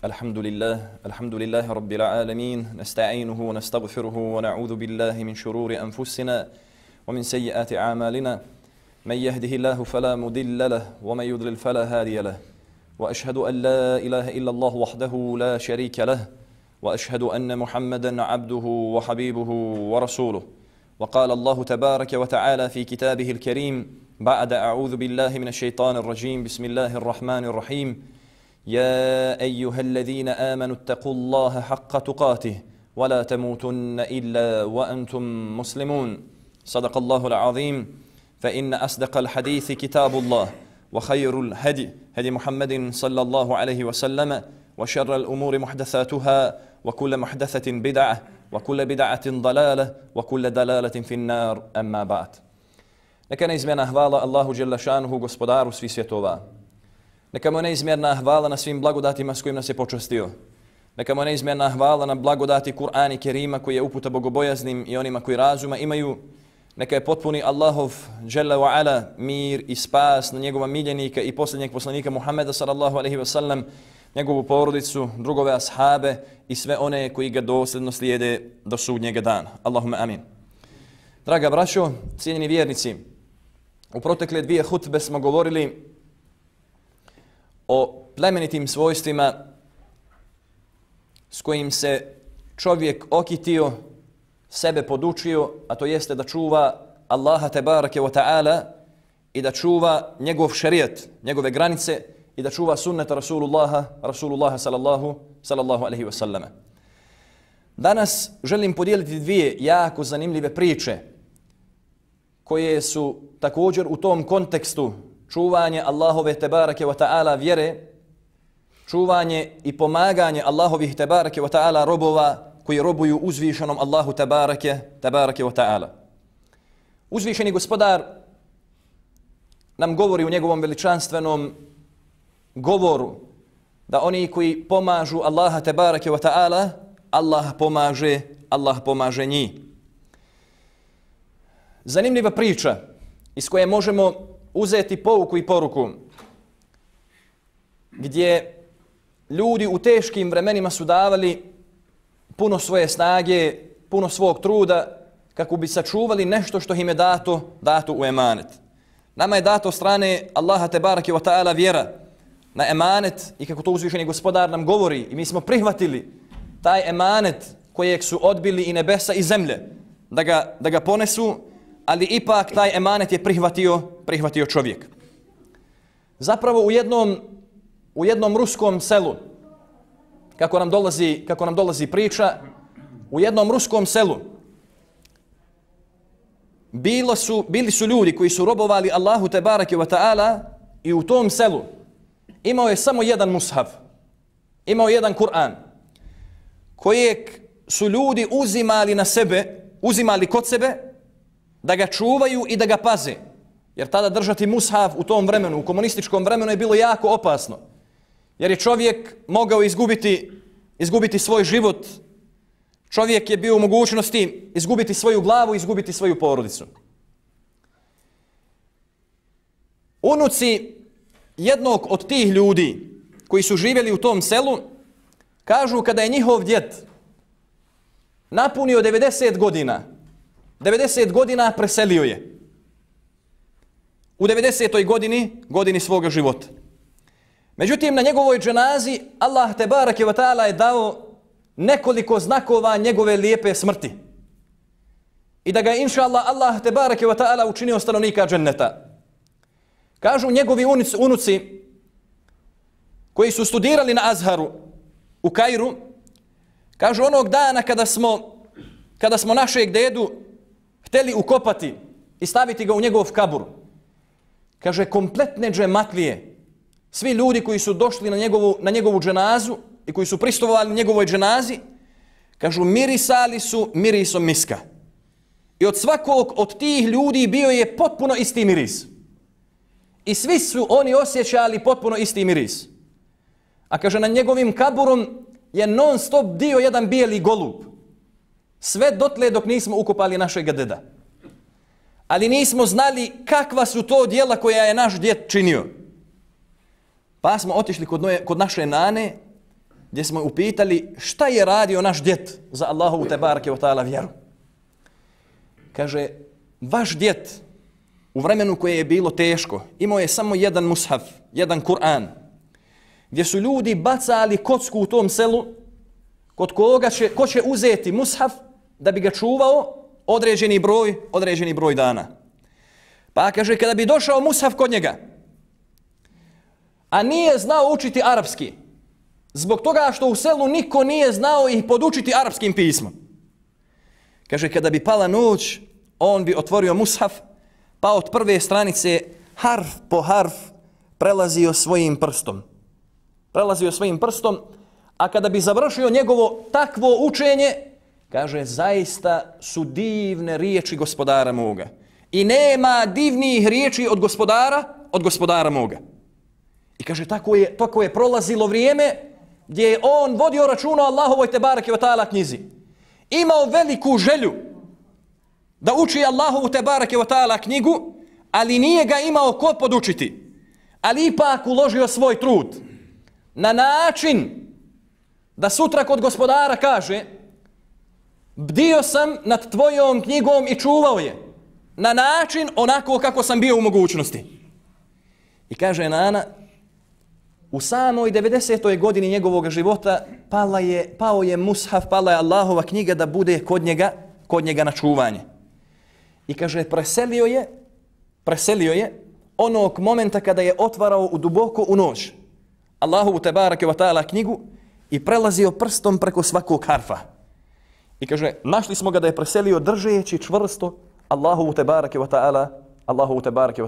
الحمد لله رب العالمين نستعينه ونستغفره ونعوذ بالله من شرور أنفسنا ومن سيئات أعمالنا من يهده الله فلا مضل له ومن يضلل فلا هادي له وأشهد أن لا إله إلا الله وحده لا شريك له وأشهد أن محمدا عبده وحبيبه ورسوله وقال الله تبارك وتعالى في كتابه الكريم بعد أعوذ بالله من الشيطان الرجيم بسم الله الرحمن الرحيم يا أيها الذين آمنوا اتقوا الله حق تقاته ولا تموتن إلا وأنتم مسلمون صدق الله العظيم فإن أصدق الحديث كتاب الله وخير الهدي هدي محمد صلى الله عليه وسلم وشر الأمور محدثاتها وكل محدثة بدعة وكل بدعة ضلالة وكل دلالة في النار أما بعد Neka neizmjerna hvala Allahu dželle šanuhu, gospodaru svih svjetova. Neka mu neizmjerna hvala na svim blagodatima s kojim nas je počastio. Neka mu neizmjerna hvala na blagodati Kur'ana Kerima koji je uputa bogobojaznim i onima koji razuma imaju. Neka je potpuni Allahov dželle ve ala mir i spas na njegova miljenika i posljednjeg poslanika Muhameda sallallahu alejhi ve sellem, njegovu porodicu, drugove ashabe i sve one koji ga dosljedno slijede do sudnjega dana. Allahumma amin. Draga braćo, cijenjeni vjernici, u protekle dvije hutbe smo govorili o plemenitim svojstvima s kojim se čovjek okitio, sebe podučio, a to jeste da čuva Allaha tebareke wa ta'ala i da čuva njegov šerijat, njegove granice i da čuva sunneta Rasulullaha sallallahu alaihi wa sallama. Danas želim podijeliti dvije jako zanimljive priče koje su također u tom kontekstu čuvanje Allahove tebareke wa ta'ala vjere, čuvanje i pomaganje Allahovih tebareke wa ta'ala robova koji robuju uzvišenom Allahu tebareke wa ta'ala. Uzvišeni gospodar nam govori u njegovom veličanstvenom govoru da oni koji pomažu Allaha tebareke wa ta'ala, Allah pomaže njih. Zanimljiva priča iz koje možemo uzeti pouku i poruku, gdje ljudi u teškim vremenima su davali puno svoje snage, puno svog truda kako bi sačuvali nešto što im je dato u emanet. Nama je dato strane Allaha tebareke wa ta'ala vjera na emanet i kako to uzvišeni gospodar nam govori i mi smo prihvatili taj emanet kojeg su odbili i nebesa i zemlje da ga ponesu, ali ipak taj emanet je prihvatio čovjek. Zapravo u jednom ruskom selu, kako nam dolazi priča, u jednom ruskom selu bili su ljudi koji su robovali Allahu tebareke wa ta'ala i u tom selu imao je samo jedan mushaf, imao jedan Kur'an kojeg su ljudi uzimali kod sebe da ga čuvaju i da ga paze. Jer tada držati mushaf u tom vremenu, u komunističkom vremenu je bilo jako opasno. Jer je čovjek mogao izgubiti svoj život. Čovjek je bio u mogućnosti izgubiti svoju glavu, izgubiti svoju porodicu. Unuci jednog od tih ljudi koji su živjeli u tom selu kažu kada je njihov djed napunio 90 godina preselio je. U 90. godini svoga života. Međutim, na njegovoj dženazi Allah tebareke wa ta'ala je dao nekoliko znakova njegove lijepe smrti. I da ga je inša Allah tebareke wa ta'ala učinio stanovnika dženneta. Kažu njegovi unuci koji su studirali na Azharu u Kairu, kažu onog dana kada smo našeg dedu htjeli ukopati i staviti ga u njegov kabur, kaže kompletne džematlije, svi ljudi koji su došli na njegovu dženazu i koji su pristovali na njegovoj dženazi, kažu mirisali su mirisom miska. I od svakog od tih ljudi bio je potpuno isti miris. I svi su oni osjećali potpuno isti miris. A kaže na njegovim kaburom je non stop dio jedan bijeli golub. Sve dotle dok nismo ukopali našeg deda. Ali nismo znali kakva su to djela koja je naš djed činio. Pa smo otišli kod naše nane gdje smo upitali šta je radio naš djed za Allahovu tebareke ve ta'ala vjeru. Kaže, vaš djed u vremenu koje je bilo teško imao je samo jedan mushaf, jedan Kur'an, gdje su ljudi bacali kocku u tom selu kod ko će uzeti mushaf da bi ga čuvao određeni broj dana. Pa kaže, kada bi došao mushaf kod njega, a nije znao učiti arapski, zbog toga što u selu niko nije znao ih podučiti arapskim pismom. Kaže, kada bi pala noć, on bi otvorio mushaf, pa od prve stranice harf po harf prelazio svojim prstom, a kada bi završio njegovo takvo učenje, kaže, zaista su divne riječi gospodara moga. I nema divnijih riječi od gospodara moga. I kaže, tako je prolazilo vrijeme gdje je on vodio računa o Allahovoj tebareke ve ta'ala knjizi. Imao veliku želju da uči Allahovu tebareke ve ta'ala knjigu, ali nije ga imao ko podučiti. Ali ipak uložio svoj trud na način da sutra kod gospodara kaže, bdio sam nad tvojom knjigom i čuvao je na način onako kako sam bio u mogućnosti. I kaže Nana, u samoj 90. godini njegovog života pao je mushaf, pala je Allahova knjiga da bude kod njega na čuvanje. I kaže, preselio je onog momenta kada je otvarao duboko u noć Allahovu tebareke ve ta'ala knjigu i prelazio prstom preko svakog harfa. I kaže, našli smo ga da je preselio držeći čvrsto Allahovu tebareke ve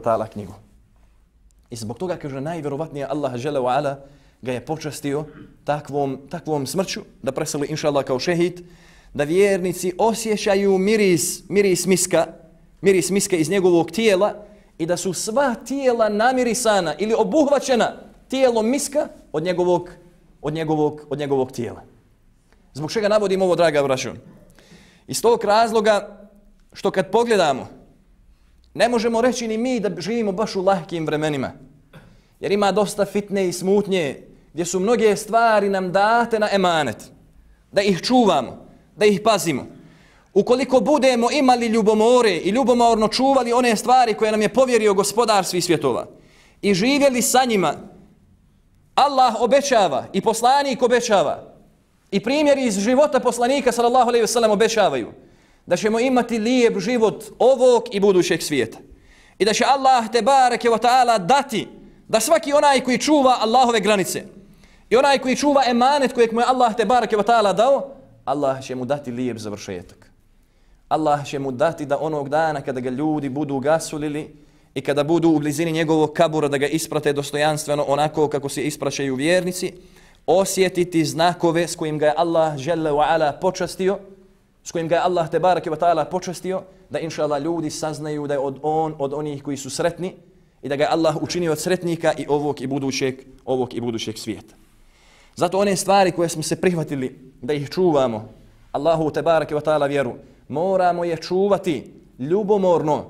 ta'ala knjigu. I zbog toga, kaže, najvjerovatnije Allah dželle ve ala ga je počastio takvom smrću da preseli inšallah kao šehid, da vjernici osjećaju miris miska iz njegovog tijela i da su sva tijela namirisana ili obuhvaćena tijelom miska od njegovog tijela. Zbog čega navodim ovo, draga braćo? Iz tog razloga što kad pogledamo, ne možemo reći ni mi da živimo baš u lahkim vremenima. Jer ima dosta fitne i smutnje gdje su mnoge stvari nam date na emanet. Da ih čuvamo, da ih pazimo. Ukoliko budemo imali ljubomore i ljubomorno čuvali one stvari koje nam je povjerio gospodar svih svjetova i živjeli sa njima, Allah obećava i poslanik obećava i primjeri iz života poslanika sallallahu alejhi ve sellem obećavaju da ćemo imati lijep život ovog i budućeg svijeta. I da će Allah tebareke ve ta'ala dati da svaki onaj koji čuva Allahove granice i onaj koji čuva emanet kojeg mu je Allah tebareke ve ta'ala dao, Allah će mu dati lijep završetak. Allah će mu dati da onog dana kada ga ljudi budu gasulili i kada budu u blizini njegovog kabura da ga isprate dostojanstveno onako kako se ispraćaju vjernici, osjetiti znakove s kojim ga je Allah dželle ve ala počastio, s kojim ga je Allah tebareke ve ta'ala počastio, da inšallah ljudi saznaju da je od onih koji su sretni i da ga je Allah učinio od sretnika i ovog i budućeg svijeta. Zato one stvari koje smo se prihvatili da ih čuvamo, Allahu tebareke ve ta'ala vjeru, moramo je čuvati ljubomorno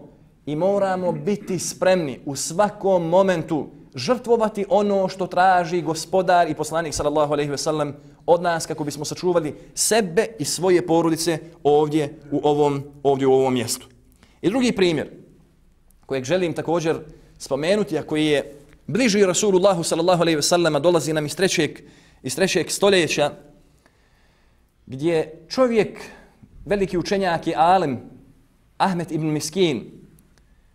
i moramo biti spremni u svakom momentu žrtvovati ono što traži gospodar i poslanik sallallahu alejhi ve sellem od nas kako bismo sačuvali sebe i svoje porodice ovdje u ovom mjestu. I drugi primjer kojeg želim također spomenuti, a koji je bliži Rasulullahu sallallahu alejhi ve sellem, dolazi nam iz trećeg stoljeća, gdje čovjek, veliki učenjak i alim, Ahmed ibn Miskin,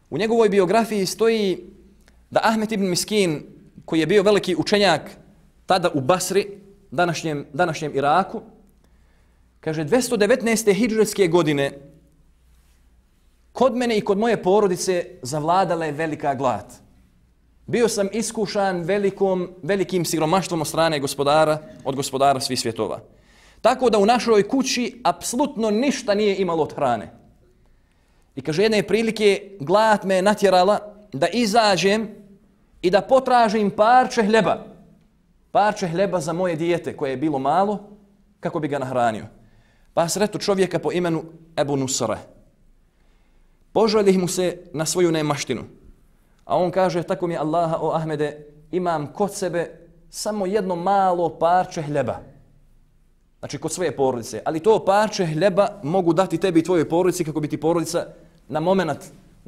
u njegovoj biografiji stoji da Ahmed ibn Miskin, koji je bio veliki učenjak tada u Basri, današnjem Iraku, kaže 219. hidžretske godine kod mene i kod moje porodice zavladala je velika glad. Bio sam iskušan velikim siromaštvom od gospodara svih svjetova. Tako da u našoj kući apsolutno ništa nije imalo od hrane. I kaže, jedne prilike glad me natjerala da izađem i da potražim parče hljeba za moje dijete koje je bilo malo, kako bi ga nahranio. Pa sretu čovjeka po imenu Ebu Nusra. Požalih mu se na svoju nemaštinu. A on kaže, tako mi Allaha, o Ahmede, imam kod sebe samo jedno malo parče hljeba. Znači kod svoje porodice. Ali to parče hljeba mogu dati tebi i tvojoj porodici kako bi ti porodica na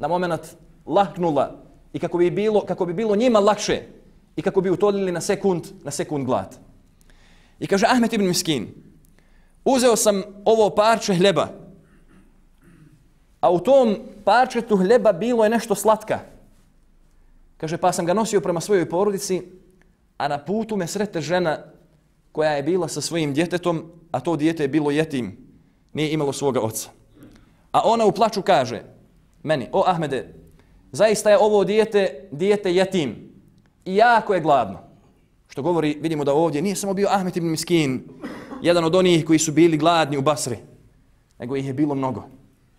moment laknula i kako bi bilo njima lakše i kako bi utoljili na sekund glad. I kaže Ahmed ibn Miskin, uzeo sam ovo parče hljeba, a u tom parčetu hljeba bilo je nešto slatka. Kaže, pa sam ga nosio prema svojoj porodici, a na putu me srete žena koja je bila sa svojim djetetom, a to dijete je bilo jetim, nije imalo svoga oca. A ona u plaču kaže meni, o Ahmede, zaista je ovo dijete jetim i jako je gladno. Što govori, vidimo da ovdje nije samo bio Ahmed ibn Miskin, jedan od onih koji su bili gladni u Basri, nego ih je bilo mnogo.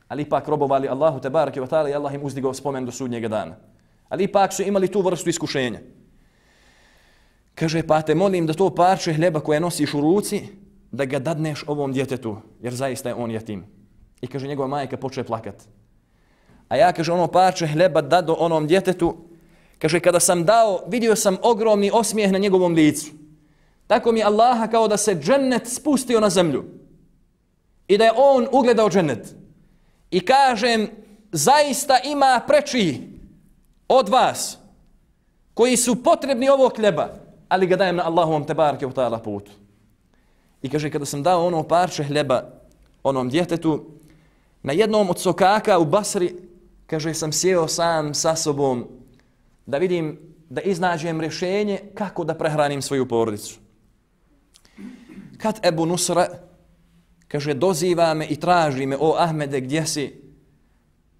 Ali ipak robovali Allahu tebareke ve taala i Allah im uzdigao spomen do sudnjega dana. Ali ipak su imali tu vrstu iskušenja. Kaže, pa te molim da to parče hljeba koje nosiš u ruci, da ga dadneš ovom djetetu, jer zaista je on jetim. I kaže, njegova majka počne plakat. A ja, kaže, ono parče hljeba dado onom djetetu, kaže, kada sam dao, vidio sam ogromni osmijeh na njegovom licu. Tako mi Allaha kao da se džennet spustio na zemlju. I da je on ugledao džennet. I kažem, zaista ima preči od vas koji su potrebni ovog hljeba, ali ga dajem na Allahovom tebareke ve taala putu. I kaže, kada sam dao ono parče hljeba onom djetetu, na jednom od sokaka u Basri, kaže, sam sjeo sam sa sobom da vidim, da iznađem rješenje kako da prehranim svoju porodicu. Kad Ebu Nusra, kaže, doziva me i traži me, o Ahmede, gdje si?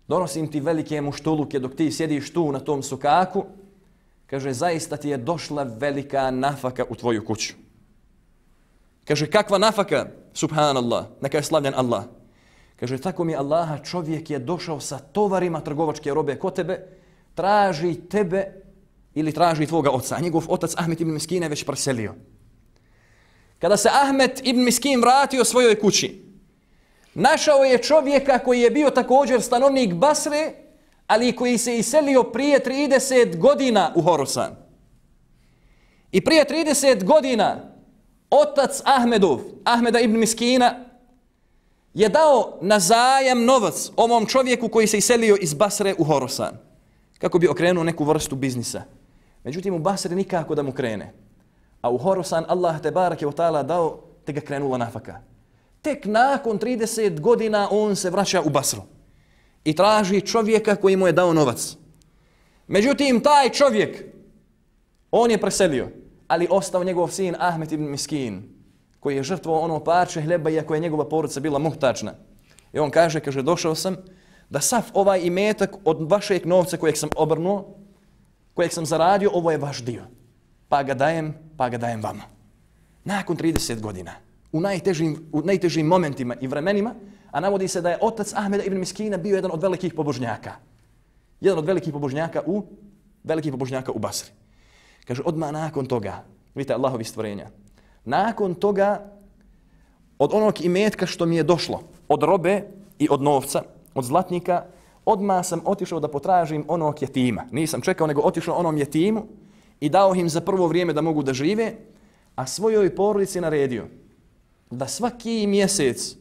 Donosim ti velike muštuluke dok ti sjediš tu na tom sokaku. Kaže, zaista ti je došla velika nafaka u tvoju kuću. Kaže, kakva nafaka? Subhanallah, neka je slavljen Allah. Kaže, tako mi Allaha, čovjek je došao sa tovarima trgovačke robe kod tebe, traži tebe ili traži tvoga oca. A njegov otac Ahmed ibn Miskin je već preselio. Kada se Ahmed ibn Miskin vratio svojoj kući, našao je čovjeka koji je bio također stanovnik Basre, ali koji se iselio prije 30 godina u Horasan. I prije 30 godina otac Ahmeda ibn Miskina, je dao na zajam novac ovom čovjeku koji se iselio iz Basre u Horasan, kako bi okrenuo neku vrstu biznisa. Međutim, u Basri nikako da mu krene. A u Horasan Allah tebareke ve taala dao, te ga krenula nafaka. Tek nakon 30 godina on se vraća u Basru i traži čovjeka koji mu je dao novac. Međutim, taj čovjek, on je preselio, ali ostao njegov sin Ahmed ibn Miskin, koji je žrtvovao ono parče hljeba, iako je njegova porodica bila muhtačna. I on kaže, došao sam da sav ovaj imetak od vašeg novca kojeg sam obrnuo, kojeg sam zaradio, ovo je vaš dio. Pa ga dajem vama. Nakon 30 godina, u najtežim momentima i vremenima, a navodi se da je otac Ahmeda ibn Miskina bio jedan od velikih pobožnjaka. Jedan od velikih pobožnjaka u Basri. Kaže, odmah nakon toga, vidite Allahovi stvorenja, nakon toga, od onog imetka što mi je došlo, od robe i od novca, od zlatnika, odmah sam otišao da potražim onog jetima. Nisam čekao, nego otišao onom jetimu i dao im za prvo vrijeme da mogu da žive, a svojoj porodici naredio da svaki mjesec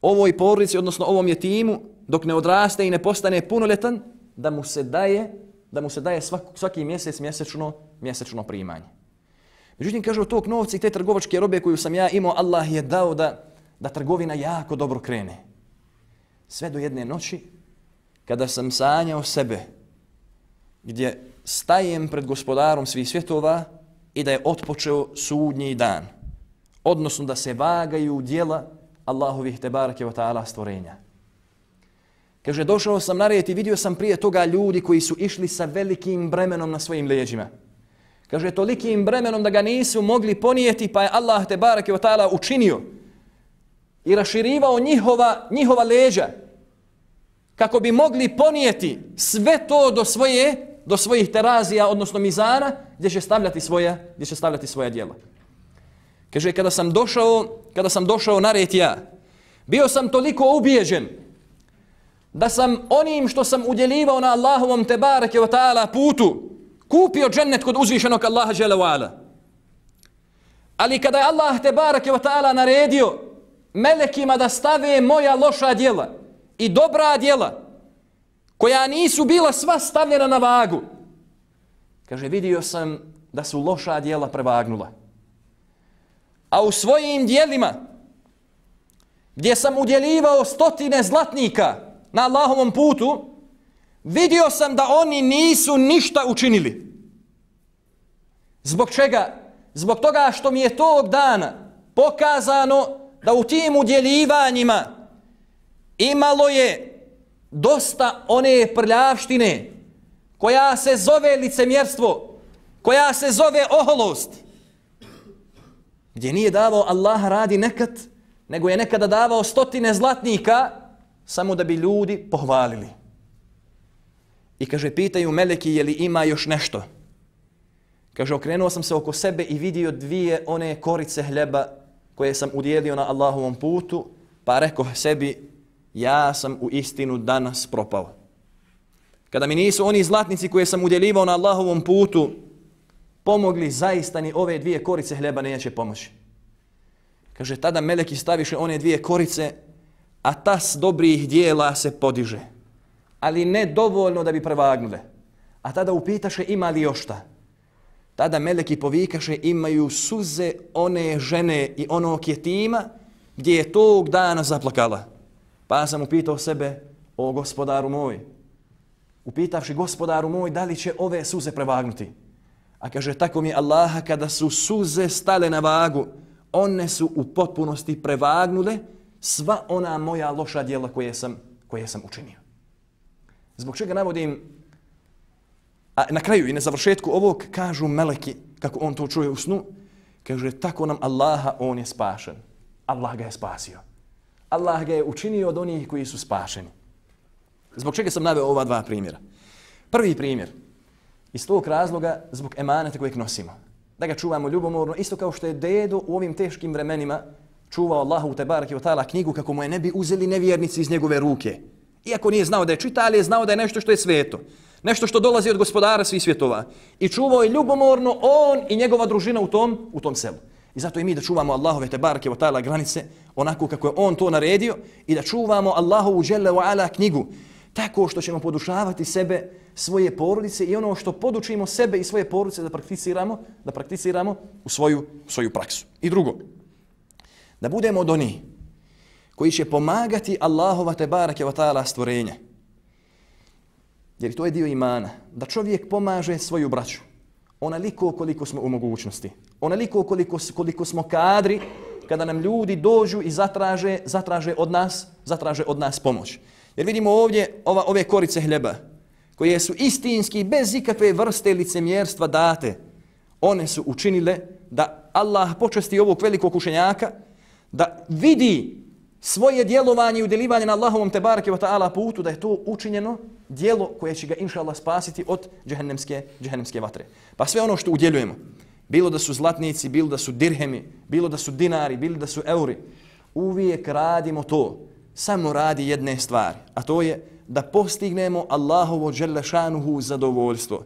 ovoj porodici, odnosno ovom jetimu, dok ne odraste i ne postane punoljetan, da mu se daje svaki mjesec mjesečno primanje. Međutim, kaže, od tog novca i te trgovačke robe koju sam ja imao, Allah je dao da trgovina jako dobro krene. Sve do jedne noći, kada sam sanjao sebe, gdje stajem pred gospodarom svih svjetova i da je otpočeo sudnji dan. Odnosno da se vagaju djela Allahovih tebareke ve taala stvorenja. Kaže, došao sam na red i vidio sam prije toga ljudi koji su išli sa velikim bremenom na svojim leđima. Kaže, tolikim bremenom da ga nisu mogli ponijeti, pa je Allah tebareke ve taala učinio i raširivao njihova leđa kako bi mogli ponijeti sve to do svojih terazija, odnosno mizana, gdje će stavljati svoja djela. Kaže, kada sam došao na red ja, bio sam toliko ubijeđen da sam onim što sam udjeljivao na Allahovom tebareke ve taala putu kupio džennet kod uzvišenog Allaha dželle ve ala. Ali kada je Allah te barake wa ta'ala naredio melekima da stave moja loša djela i dobra djela, koja nisu bila sva stavljena na vagu, kaže, vidio sam da su loša djela prevagnula. A u svojim djelima, gdje sam udjeljivao stotine zlatnika na Allahovom putu, vidio sam da oni nisu ništa učinili. Zbog čega? Zbog toga što mi je tog dana pokazano da u tim udjeljivanjima imalo je dosta one prljavštine koja se zove licemjerstvo, koja se zove oholost, gdje nije davao Allah radi nekad, nego je nekada davao stotine zlatnika samo da bi ljudi pohvalili. I kaže, pitaju meleki, je li ima još nešto? Kaže, okrenuo sam se oko sebe i vidio dvije one korice hljeba koje sam udjelio na Allahovom putu, pa rekao sebi, ja sam u istinu danas propao. Kada mi nisu oni zlatnici koje sam udjeljivao na Allahovom putu pomogli, zaista ni ove dvije korice hljeba neće pomoći. Kaže, tada meleki staviše one dvije korice, a tas dobrih dijela se podiže, ali ne dovoljno da bi prevagnule. A tada upitaše, ima li još šta? Tada meleki povikaše, imaju suze one žene i onog jetima gdje je tog dana zaplakala. Pa sam upitao sebe, o gospodaru moj, upitavši gospodaru moj, da li će ove suze prevagnuti? A kaže, tako mi Allaha, kada su suze stale na vagu, one su u potpunosti prevagnule sva ona moja loša djela koje sam učinio. Zbog čega navodim, a na kraju i na završetku ovog kažu meleki, kako on to čuje u snu, kaže, tako nam Allaha, on je spašen. Allah ga je spasio. Allah ga je učinio od onih koji su spašeni. Zbog čega sam naveo ova dva primjera? Prvi primjer, iz tog razloga zbog emaneta kojeg nosimo. Da ga čuvamo ljubomorno, isto kao što je dedo u ovim teškim vremenima čuvao Allahu te bareke ve taala knjigu kako mu je ne bi uzeli nevjernici iz njegove ruke. Iako nije znao da je čita, ali je znao da je nešto što je sveto. Nešto što dolazi od gospodara svih svjetova. I čuvao je ljubomorno on i njegova družina u tom selu. I zato i mi da čuvamo Allahove te bareke ve taala granice onako kako je on to naredio i da čuvamo Allahovu dželle ve ala knjigu tako što ćemo podušavati sebe, svoje porodice i ono što podučimo sebe i svoje porodice da prakticiramo u svoju praksu. I drugo, da budemo od onih koji će pomagati Allahova te bareke ve taala stvorenje. Jer to je dio imana, da čovjek pomaže svoju braću onoliko koliko smo u mogućnosti, onoliko koliko smo kadri kada nam ljudi dođu i zatraže od nas pomoć. Jer vidimo ovdje ove korice hljeba koje su istinski bez ikakve vrste licemjerstva date. One su učinile da Allah počasti ovog velikog učenjaka da vidi svoje djelovanje i udjeljivanje na Allahovom te bareke ve taala putu, da je to učinjeno djelo koje će ga inšallah spasiti od džehennemske vatre. Pa sve ono što udjeljujemo, bilo da su zlatnici, bilo da su dirhemi, bilo da su dinari, bilo da su euri, uvijek radimo to samo radi jedne stvari, a to je da postignemo Allahovo dželle šanuhu zadovoljstvo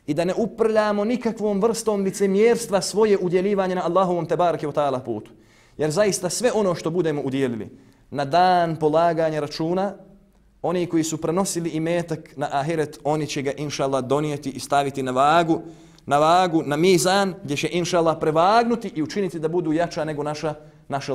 i da ne uprljamo nikakvom vrstom licemjerstva svoje udjeljivanje na Allahovom te bareke ve taala putu. Jer zaista sve ono što budemo udjelili na dan polaganja računa, oni koji su prenosili imetak na ahiret, oni će ga inšallah donijeti i staviti na vagu, na mizan, gdje će inšallah prevagnuti i učiniti da budu jača nego naša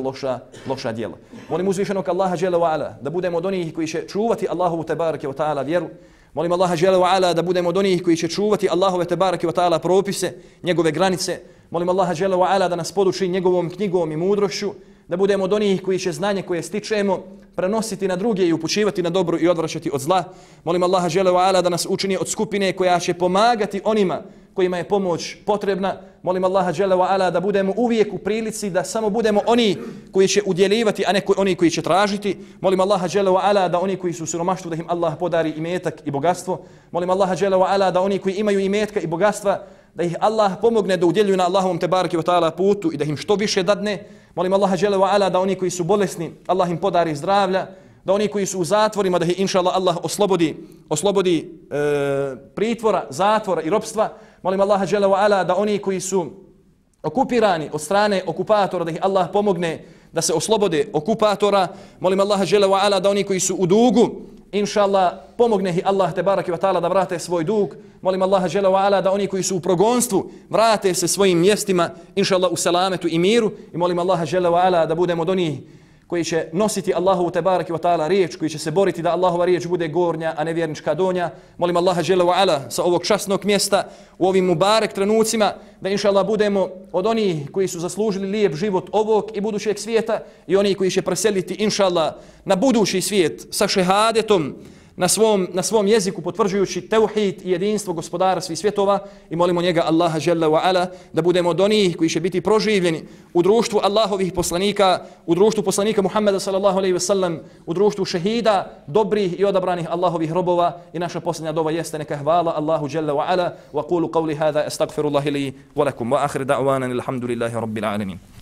loša djela. Molim uzvišenog Allaha dželle ve ala da budemo od onih koji će čuvati Allahovu te bareke ve taala vjeru. Molim Allaha dželle ve ala da budemo od onih koji će čuvati Allahove te bareke ve taala propise, njegove granice. Molim Allaha dželle ve ala da nas poduči njegovom knjigom i mudrošću, da budemo od onih koji će znanje koje stičemo prenositi na druge i upućivati na dobro i odvraćati od zla. Molim Allaha dželle ve ala da nas učini od skupine koja će pomagati onima kojima je pomoć potrebna. Molim Allaha dželle ve ala da budemo uvijek u prilici da samo budemo oni koji će udjeljivati, a ne oni koji će tražiti. Molim Allaha dželle ve ala da oni koji su u siromaštvu da im Allah podari imetak i bogatstvo. Molim Allaha dželle ve ala da oni koji imaju imetka i bogatstva da ih Allah pomogne da udjeljuju na Allahovom te bareke ve taala putu i da im što više dadne. Molim Allaha dželle ve ala da oni koji su bolesni, Allah im podari zdravlja, da oni koji su u zatvorima da ih inšallah Allah oslobodi pritvora, zatvora i ropstva. Molim Allaha dželle ve ala da oni koji su okupirani od strane okupatora, da ih Allah pomogne da se oslobode okupatora. Molim Allaha dželle ve ala da oni koji su u dugu, inša Allah, pomogne ih Allah tebareke ve taala da vrate svoj dug. Molim Allaha dželle ve ala da oni koji su u progonstvu vrate se svojim mjestima, inša Allah, u selametu i miru. I molim Allaha dželle ve ala da budemo od onih koji će nositi Allahovu tebareke ve taala riječ, koji će se boriti da Allahova riječ bude gornja, a nevjernička donja. Molim Allaha dželle ve ala sa ovog časnog mjesta u ovim mubarek trenucima da inša Allah budemo od onih koji su zaslužili lijep život ovog i budućeg svijeta i oni koji će preseliti inša Allah na budući svijet sa šehadetom na svom jeziku, potvrđujući tauhid i jedinstvo gospodara svih svjetova. I molimo njega Allaha dželle ve ala da budemo od onih koji će biti proživljeni u društvu Allahovih poslanika, u društvu poslanika Muhammeda sallallahu alejhi ve sellem, u društvu šehida, dobrih i odabranih Allahovih robova. I naša posljednja dova jeste neka hvala Allahu dželle ve ala. Wa qulu qawli hadha astaghfirullaha li wa lakum wa akhir da'wana alhamdulillahi rabbil alamin.